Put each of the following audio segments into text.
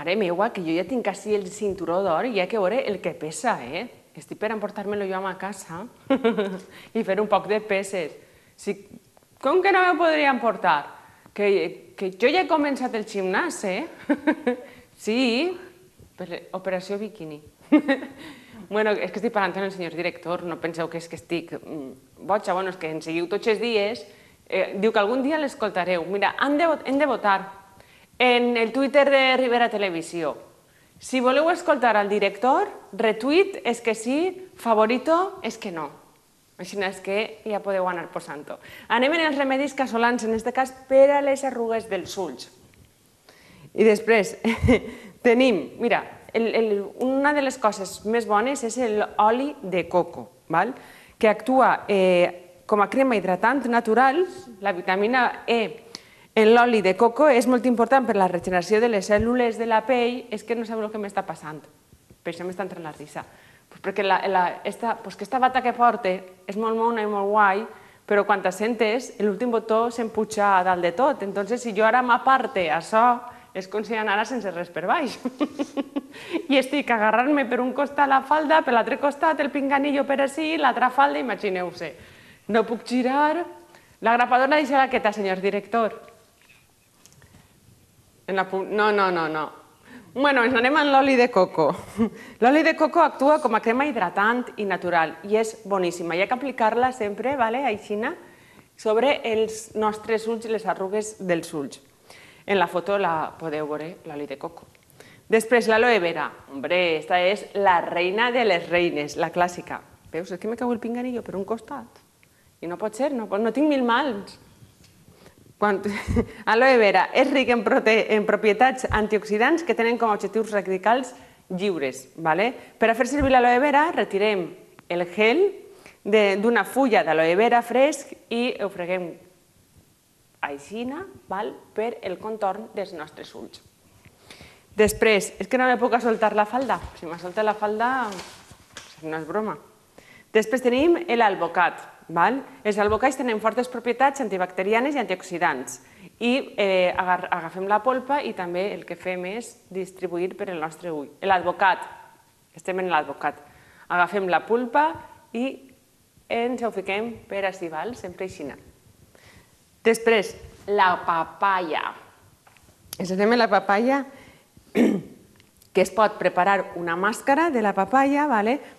mare meua, que jo ja tinc quasi el cinturó d'or i ja que veure el que pesa, Estic per emportar-me-lo jo a ma casa i fer un poc de peses. Com que no me podria emportar? Que jo ja he començat el gimnàs, Sí, per operació biquini. Bueno, és que estic parlant amb el senyor director, no penseu que és que estic boja, bueno, és que ens seguiu tots els dies, diu que algun dia l'escoltareu. Mira, hem de votar en el Twitter de Ribera Televisió. Si voleu escoltar al director, retuit és que sí, favorito és que no. Així és que ja podeu anar posant-ho. Anem en els remedis casolans, en aquest cas per a les arrugues dels ulls. I després tenim, mira, una de les coses més bones és l'oli de coco, que actua com a crema hidratant natural. La vitamina E en l'oli de coco és molt important per a la regeneració de les cèl·lules de la pell. És que no sabeu el que m'està passant, per això m'està entrant la risa. Perquè aquesta bata que porte és molt mona i molt guai, però quan te sentes, l'últim botó s'empuja a dalt de tot. Entonces, si jo ara m'aparte això, és com si anara sense res per baix. I estic agarrant-me per un costat la falda, per l'altre costat el pinganillo per ací, l'altra falda, imagineu-se. No puc girar. La grapadora deixa-la quieta, senyor director. No. Bueno, ens anem amb l'oli de coco. L'oli de coco actua com a crema hidratant i natural i és boníssima. Hi ha que aplicar-la sempre, així, sobre els nostres ulls i les arrugues dels ulls. En la foto la podeu veure, l'oli de coco. Després, l'aloe vera. Hombre, esta és la reina de les reines, la clàssica. Veus? És que me cau el pinganillo per un costat. I no pot ser, no tinc mil mals. Aloe vera és ric en propietats antioxidants que tenen com a objectius radicals lliures. Per a fer servir l'aloe vera, retirem el gel d'una fulla d'aloe vera fresc i ho freguem així per el contorn dels nostres ulls. Després, és que no me puc soltar la falda. Si me solta la falda, no és broma. Després tenim l'alvocat. Els albocats tenen fortes propietats antibacterianes i antioxidants. I agafem la polpa i també el que fem és distribuir per el nostre ull. L'alvocat, estem en l'alvocat. Agafem la pulpa i ens ho fiquem per ací, sempre així. Després, la papaya. Ens fem la papaya, que es pot preparar una màscara de la papaya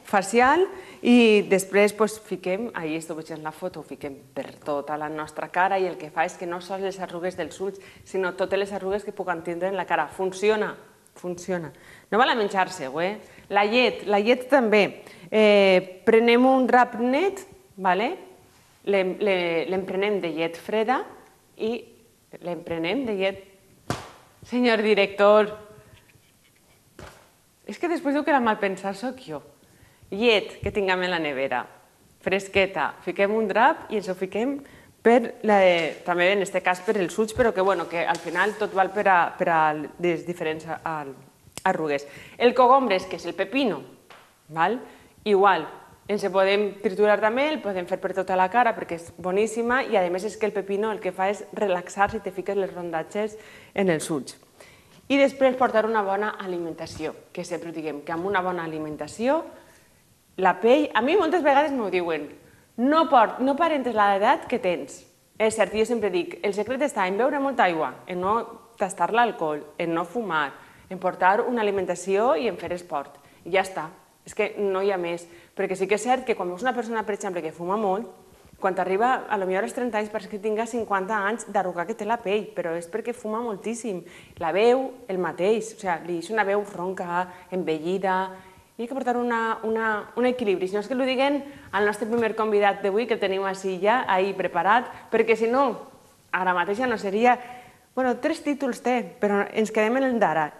facial i després fiquem, ahir esteu veient la foto, ho fiquem per tota la nostra cara i el que fa és que no sols les arrugues dels ulls, sinó totes les arrugues que puguem tindre en la cara. Funciona, funciona. No val a menjar-se-ho, La llet també. Prenem un drap net, l'emprenem de llet freda i l'emprenem de llet... Senyor director, és que després diu que la malpensar soc jo. Llet que tinguem en la nevera, fresqueta, fiquem un drap i ens ho fiquem també en aquest cas per els ulls, però que al final tot val per a les diferents arrugues. El cogombres, que és el pepino, igual, ens el podem triturar també, el podem fer per tota la cara perquè és boníssima i a més és que el pepino el que fa és relaxar si te fiques les rondatges en els ulls. I després portar una bona alimentació, que sempre ho diguem, que amb una bona alimentació la pell, a mi moltes vegades m'ho diuen, no aparentes l'edat que tens. És cert, jo sempre dic, el secret està en beure molta aigua, en no tastar l'alcohol, en no fumar, en portar una alimentació i en fer esport. I ja està, és que no hi ha més. Perquè sí que és cert que quan veus una persona, per exemple, que fuma molt, quan t'arriba, potser als 30 anys, pareix que tinga 50 anys d'arrugar que té la pell, però és perquè fuma moltíssim. La veu, el mateix, li deixa una veu ronca, envellida, i hi ha que portar un equilibri. Si no és que ho diguen al nostre primer convidat d'avui, que el tenim així ja, ahir preparat, perquè si no, ara mateix ja no seria... Bueno, 3 títols té, però ens quedem en el d'ara.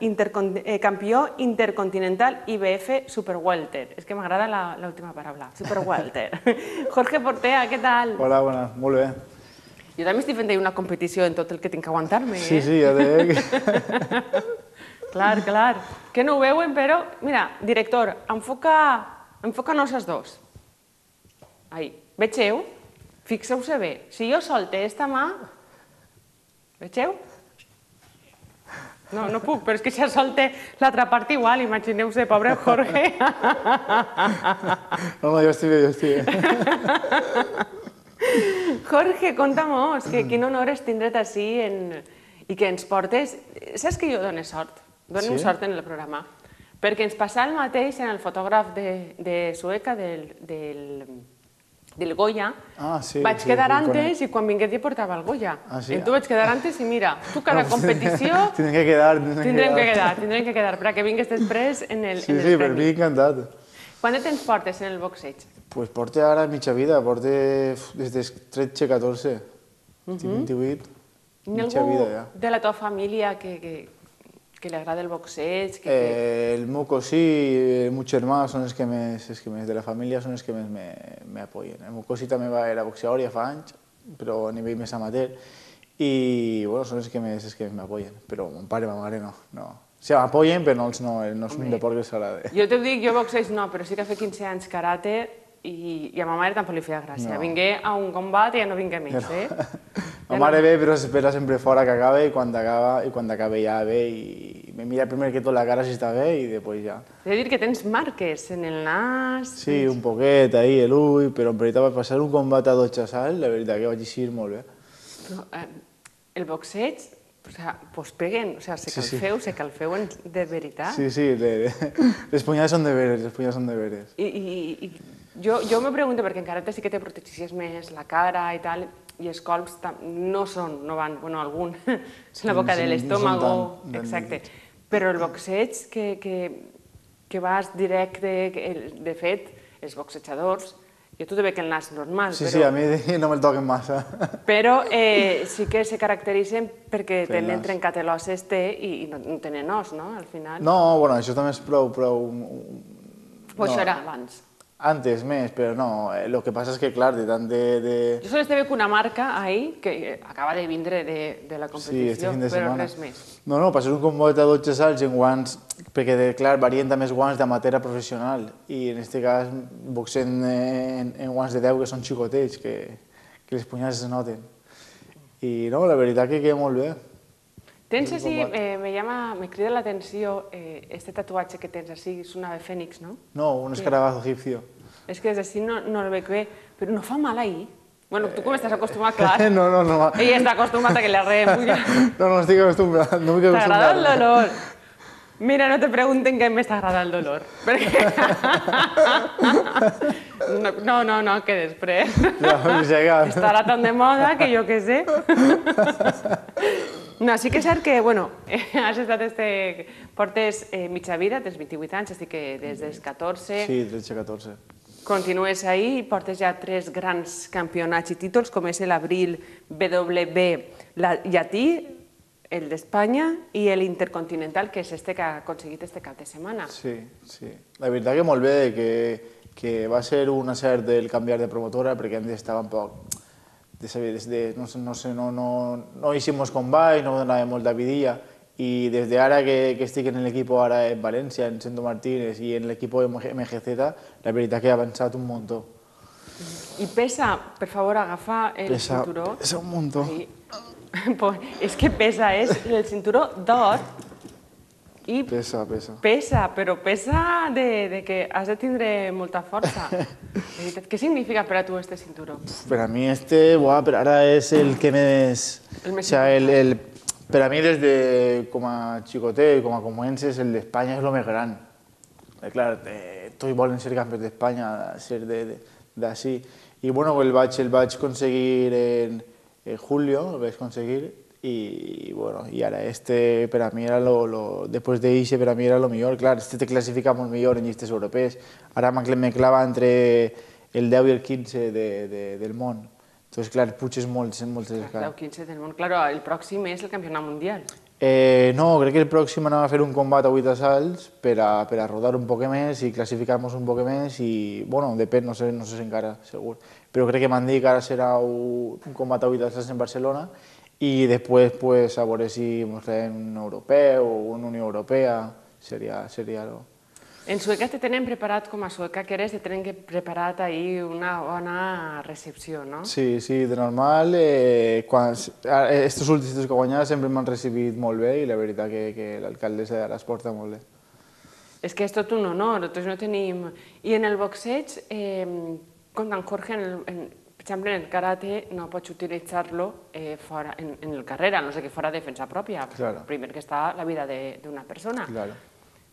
Campió intercontinental IBF Super Welter. És que m'agrada l'última paraula, Super Welter. Jorge Portea, què tal? Hola, buenas, molt bé. Jo també estic fent una competició en tot el que tinc que aguantar-me, Sí, ja te veig. Clar. Que no ho veuen, però... Mira, director, enfoca-nos els dos. Ahí. Vegeu? Fixeu-se bé. Si jo solte esta mà... Vegeu? No, no puc, però és que ja sol té l'altra part igual, imagineu-se, pobre Jorge. No, jo estic bé, jo estic bé. Jorge, conta-mos, que quin honor és tindre't ací i que ens portes... Saps que jo dono sort? Donem Sí? sort en el programa. Perquè ens passa el mateix en el fotògraf de Sueca, del Goya. Ah, sí, Vaig sí, quedar sí, antes i quan vingués ja portava el Goya. Ah, sí? I tu vaig quedar antes i mira, tu cada competició Tindrem que quedar, tindrem que quedar perquè vingues després en el Sí, sí, per premi. mi encantat. Quant de temps portes en el boxeig? Pues porte ara mitja vida, porte des dels 13-14, estic 28, Hi ha mitja algú vida ja. de la teva família que li agrada el boxeig? El meu cosí i el meu germà són els que més, de la família són els que més me apoyen. El meu cosí també era boxeador ja fa anys, però a nivell més amateur, i bueno, són els que més m'apoyen, però mon pare i ma mare no. O sigui, m'apoyen, però no és un deport que els agrada. Jo t'ho dic, jo boxeig no, però sí que fa 15 anys karate i a ma mare tampoc li feia gràcia. No. Vingué a un combat i ja no vingué més, eh? Ma mare ve, però s'espera sempre fora que acabe, i quan acabe ja ve i me mira primer que tot la cara si està bé i després ja. He de dir que tens marques en el nas... Sí, un poquet, ahí, l'ull, però en veritat vaig passar un combat a 12 salts, la veritat que vaig eixir molt bé. Però el boxeig, o sea, pues peguen, o sea, se calfeu de veritat. Sí, sí, les punyades són de veres, les punyades són de veres. I jo me pregunto, perquè en karate sí que te protegeixes més la cara i tal, i els colps no van, bueno, algun, en la boca de l'estómago, exacte. Però el boxeig que vas directe, de fet, els boxejadors, jo t'ho veig el nas normal, Sí, sí, a mi no me'l toquen massa. però sí que se caracteritzen perquè Per el tenen nas. trencat l'os i no tenen os, no?, al final. No, bueno, això també és prou... Pues això era abans. Antes més, però no, el que passa és que, clar, de tant Jo sols te veig una marca ahí que acaba de vindre de la Sí, competició, este fin de però setmana. res més. No, per ser un combat a 12 salts en guants, perquè, clar, varien també els guants d'amateur a professional, i en aquest cas boxem en guants de 10 que són xicotets, que les punyades es noten. I no, la veritat que queda molt bé. Tens així, me crida l'atenció, este tatuatge que tens així, és un ave fènix, no? No, un escarabajo egipcio. És que des d'ací no el veig bé, però no fa mal ahir. Bueno, tu com estàs acostumat, clar. No. Ell està acostumat a que li arreguin. No estic acostumbrat, no vull T'agrada el acostumbrar. dolor? Mira, no te pregunten què més t'agrada el dolor. Perquè... No, que després. No, Estarà tan de moda que jo què sé. No, sí que és cert que, bueno, has estat portes mitja vida, tens 28 anys, així que des dels 14 Sí, 13-14. continues ahí i portes ja 3 grans campionats i títols, com és l'Abril BW llatí, el d'Espanya i l'Intercontinental, que és este que ha aconseguit este cap de setmana. Sí. La veritat que molt bé, que va ser un acert el canviar de promotora, perquè antes estava un poc... No hicimos combate, no donava molta vidilla, i des d'ara que estic en l'equip ara en València, en Sento Martínez i en l'equip MGZ, la veritat que ha avançat un muntó. I pesa, per favor, agafar el cinturó. Pesa un muntó. Sí. És que pesa, és el cinturó d'or i Pesa. però pesa de que has de tindre molta força. Què significa per a tu este cinturó? Per a mi per ara és el que més... El més Per a mi, des de com a xicotet, com a comences, el d'Espanya és el més gran. Clar, tots volen ser campions d'Espanya, ser d'ací. I bueno, el vaig aconseguir en julio, el vaig aconseguir, i bueno, i ara per a mi era després d'eixe per a mi era el millor. Clar, te classifica molt millor en llistes europees. Ara me clava entre el 10 i el 15 del món. Entonces, clar, puges molts en moltes El 10-15 del món. Claro, el pròxim és el campionat mundial. No, crec que el pròxim anem a fer un combat a 8 assalts per a rodar un poc més i classificar-nos un poc més i, bueno, depèn, no sé si encara, segur. Però crec que m'han dit que ara serà un combat a 8 assalts en Barcelona i després, pues, a veure si ens fem un europeu o una Unió Europea, seria algo. En Sueca te tenen preparat, com a sueca que eres, te tenen preparat ahir una bona recepció, no? Sí, sí, de normal. Estos últims que he guanyat sempre m'han recibit molt bé i la veritat que l'alcaldessa les porta molt bé. És que és tot un honor, nosaltres no tenim... I en el boxeig, com en Jorge, per exemple, en el karate no pots utilitzar-lo fora, en el carrer, no sé que fora defensa pròpia. Claro. Primer que està la vida d'una persona. Claro.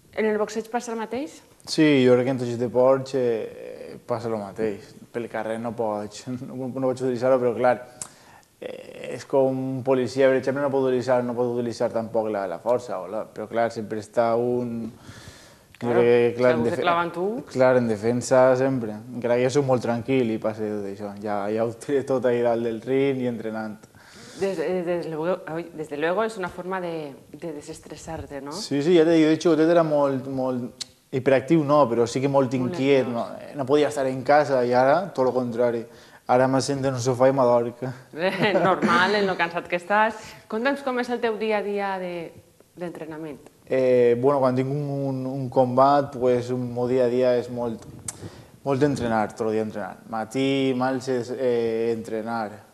En el boxeig passa el mateix? Sí, jo crec que en tots els deports passa el mateix. Pel carrer no pots utilitzar-ho, però clar, és com un policia, per exemple, no pot utilitzar tampoc la força, però clar, sempre està un... Claro, si algú te clava en tu... Clar, en defensa sempre. Encara que jo soc molt tranquil i passa tot això. Ja ho tiré tot ahí dalt del ring i entrenant. Desde luego es una forma de desestresarte, ¿no? Sí, sí, ja t'he dit, de xicotet era molt hiperactiu, no, però sí que molt inquiet, no podia estar en casa i ara tot el contrari. Ara m'assento en un sofà i m'adorc. Normal, en lo cansat que estàs. Conta'ns com és el teu dia a dia d'entrenament. Bueno, quan tinc un combat, pues, el meu dia a dia és molt entrenar, tot el dia entrenar. Matí, marxes, entrenar.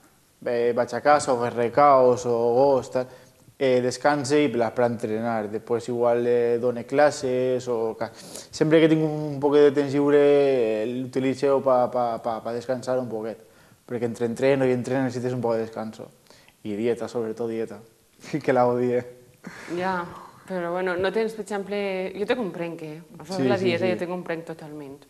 Vaig a casa o fer recaos o gos, descanse i per entrenar. Després igual dono classes o... Sempre que tinc un poquet de temps lliure l'utilitzo per descansar un poquet. Perquè entre entreno i entreno necessites un poc de descanso. I dieta, sobretot dieta, que la odie. Ja, però bueno, no tens, per exemple... Jo te comprenc, la dieta jo te comprenc totalment.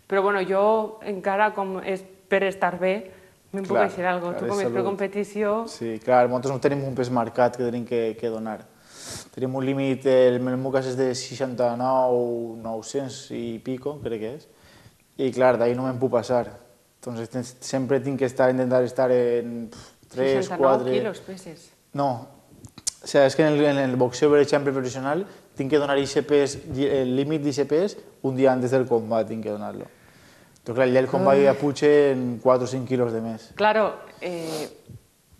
Però bueno, jo encara com és per estar bé, me'n puc deixar alguna cosa. Tu com és per competició... Sí, clar, nosaltres no tenim un pes marcat que tenim que donar. Tenim un límit, el meu cas és de 69, 900 i pico, crec que és. I clar, d'ahir no me'n puc passar. Entonces sempre tinc que intentar estar en 3, 4... 69 quilos peses. No, o sigui, és que en el boxeo, per exemple, professional, tinc que donar el límit d'ICPs un dia antes del combat, tinc que donar-lo. Però clar, ja el combat ja pugen 4 o 5 quilos de més. Claro,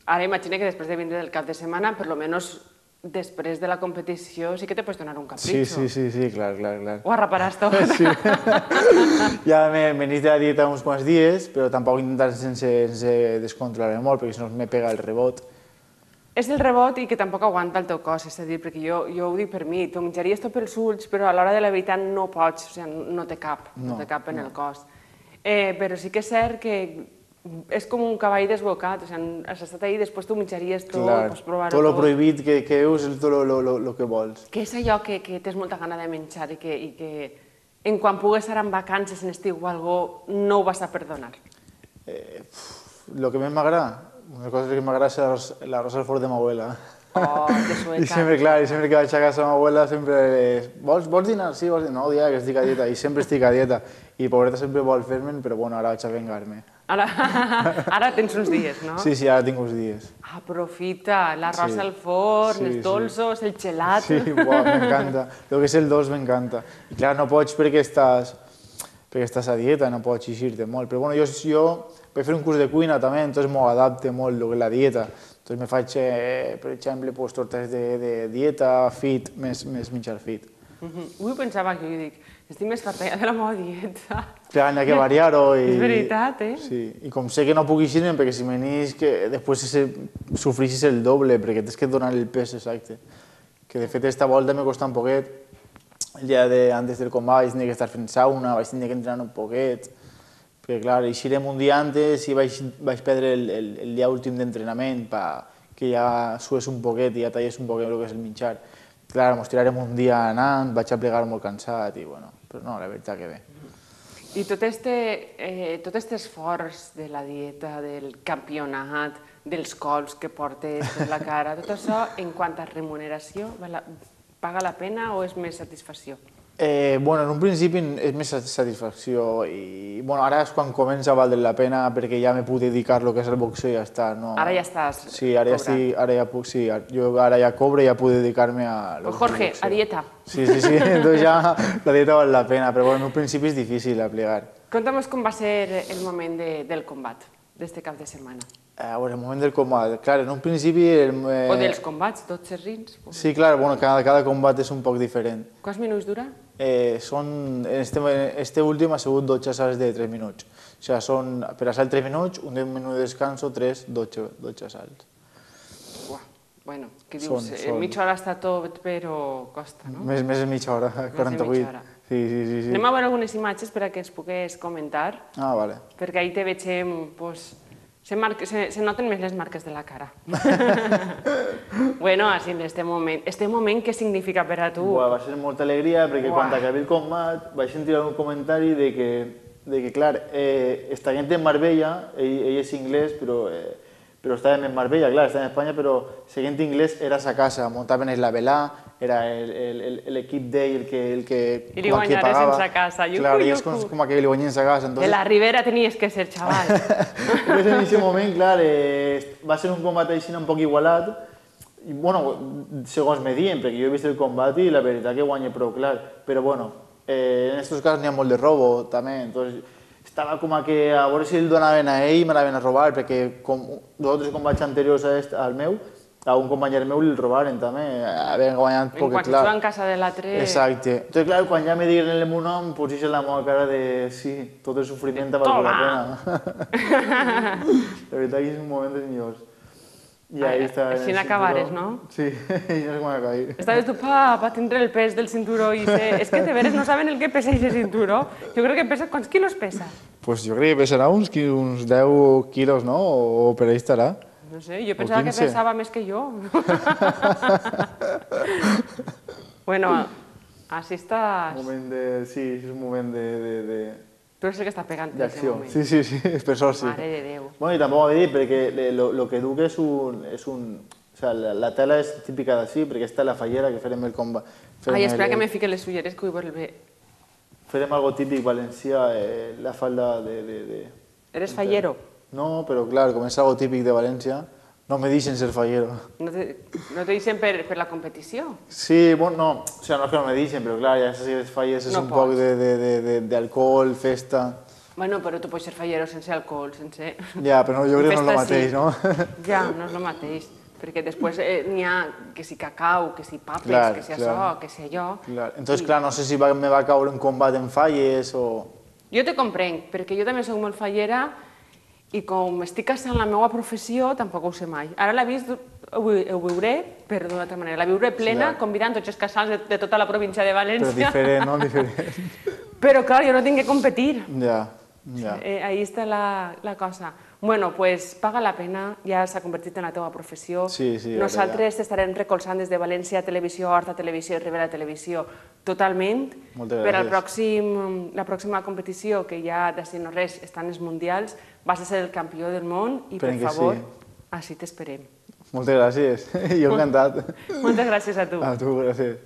ara imagina que després de vindre del cap de setmana, per lo menos després de la competició sí que te pots donar un capritxo. Sí, clar. Ho arraparàs tot. Sí. Ja m'he de la dieta uns quants dies, però tampoc intentar sense descontrolar-me molt, perquè si no me pega el rebot. És el rebot i que tampoc aguanta el teu cos, és a dir, perquè jo ho dic per mi, t'ho menjaries tot pels ulls, però a l'hora de la veritat no pots, o sigui, no té cap en el cos. Però sí que és cert que és com un cavall desbocat, o sigui, has estat ahí, després t'ho menjaries tot, pots provar-ho tot. Tot el prohibit que veus és tot el que vols. Què és allò que tens molta gana de menjar i que en quan pugues estar en vacances, en estiu o alguna cosa, no ho vas a perdonar? El que més m'agrada, una cosa que m'agrada és l'arròs al forn de m'abuela. Oh, de sueca. I sempre que vaig a casa de m'abuela sempre és, vols dinar? Sí, vols dinar? No, dia que estic a dieta, i sempre estic a dieta. I pobreta sempre vol fer-me'n, però bueno, ara vaig a vengar-me. Ara tens uns dies, no? Sí, ara tinc uns dies. Aprofita, l'arròs al forn, els dolços, el gelat... Sí, m'encanta. El que és el dolç m'encanta. I clar, no pots perquè estàs a dieta, no pots eixir-te molt. Però bueno, jo vaig fer un curs de cuina també, entonces m'ho adapte molt el que és la dieta. Entonces me faig, per exemple, tortes de dieta, fit, més menjar fit. Avui pensava que jo dic, estic més farta ja de la meva dieta. Clar, n'hi ha que variar-ho. És veritat, Sí, i com sé que no puc eixir-me, perquè si m'anís, que després sofreixis el doble, perquè tens que donar el pes exacte. Que de fet esta volta m'ha costat un poquet. El dia antes del combat vaig tenir que estar fent sauna, vaig tenir que entrenar un poquet. Perquè clar, eixirem un dia antes i vaig perdre el dia últim d'entrenament que ja sués un poquet i ja tallés un poquet el que és el menjar. Clar, mos tirarem un dia anant, vaig a plegar molt cansat i bueno, però no, la veritat que bé. I tot aquest esforç de la dieta, del campionat, dels cols que portes per la cara, tot això, en quant a remuneració, paga la pena o és més satisfacció? Bueno, en un principi és més satisfacció i bueno, ara és quan comença a valdre la pena perquè ja me puc dedicar a lo que és el boxeo i ja està. Ara ja estàs cobrant. Sí, ara ja puc, sí, jo ara ja cobro i ja puc dedicar-me a lo que és el boxeo. Jorge, a dieta. Sí, entonces ja la dieta val la pena, però bueno, en un principi és difícil a plegar. Conta'm com va ser el moment del combat, d'este cap de setmana. A veure, el moment del combat. Clar, en un principi... O dels combats, 12 rins. Sí, clar, bueno, cada combat és un poc diferent. Quants minuts dura? Este últim ha sigut 12 assalts de 3 minuts. O sigui, són per assalt 3 minuts, un 10 minuts de descanso, 12 assalts. Uah, bueno, què dius? Mitja hora està tot, però costa, no? Més de mitja hora, 48. Sí. Anem a veure algunes imatges per a que ens pugues comentar. Ah, vale. Perquè ahí te vegem, pues, se noten més les marques de la cara. Bueno, així en este moment, què significa per a tu? Va ser molta alegria, perquè quan acabi el combat vaig sentir un comentari de que clar, esta gent en Marbella, ell és inglès, però estàvem en Marbella, clar, estàvem en Espanya, però la gent inglès era a sa casa, muntaven la velà, era l'equip d'ell el que I li guanyares en sa casa. Clar, i és com que li guanyen en sa casa. De la Ribera tenies que ser, xaval. Entonces, en aquest moment, clar, va ser un combat així un poc igualat, i, bueno, segons me diuen, perquè jo he vist el combat i la veritat que guanya prou clar, però, bueno, en aquests casos n'hi ha molt de robo, també, entonces, estava com que a veure si el donaven a ell i me l'anaven a robar, perquè com dos o tres combats anteriors al meu, a un company meu li robaren també, havien guanyat poc, clar. En quan en casa de l'altre... Exacte. Entonces, clar, quan ja me digueren el meu nom, pues és la meva cara de sí, tot el sofriment ha valgut la pena. La veritat que és un moment dels millors. I ahí està... Així n'acabares, no? Sí, i no sé com acabar. Estaves tu, pa tindre el pes del cinturó i ser... És que de veres no saben el que pesa aquest cinturó. Jo crec que pesa... Quants quilos pesa? Pues jo crec que pesarà uns 10 quilos, no? O per ahí estarà. No sé, jo pensava que pesava més que jo. Bueno, així estàs... Sí, és un moment de... Tu és el que està pegant en aquest moment. Sí, per sort sí. Mare de Déu. Bueno, i tampoc ho he dit, perquè el que duc és un... O sigui, la tela és típica d'ací, perquè està la fallera que farem el combat. Ai, espera que me fique les ulleres, que vull veure... Farem algo típic valencià, la falda de... Eres fallero? No, però clar, com és algo típic de València, no me deixen ser fallero. No te deixen per la competició? Sí, bueno, no, o sigui, no és que no me deixen, però clar, ja saps que les falles és un poc d'alcohol, festa... Bueno, però tu pots ser fallero sense alcohol, sense... Ja, però jo crec que no és el mateix, no? Ja, no és el mateix, perquè després n'hi ha que si cacau, que si papes, que si això, que si allò... Entonces, clar, no sé si me va caure un combat en falles o... Jo te comprenc, perquè jo també soc molt fallera i com estic casant la meva professió, tampoc ho sé mai. Ara la vist, ho veuré, però d'una altra manera. La viuré plena, convidant tots els casals de tota la província de València. Però diferent, no? Diferent. Però, clar, jo no tinc que competir. Ja. Ahí està la cosa. Bueno, pues paga la pena, ja s'ha convertit en la teva professió. Sí. Nosaltres t'estarem recolzant des de València Televisió, Horta Televisió i Ribera Televisió totalment. Moltes gràcies. Per la pròxima competició, que ja d'ací no res estan els mundials, vas a ser el campió del món i, per favor, així t'esperem. Moltes gràcies. Jo encantat. Moltes gràcies a tu. A tu, gràcies.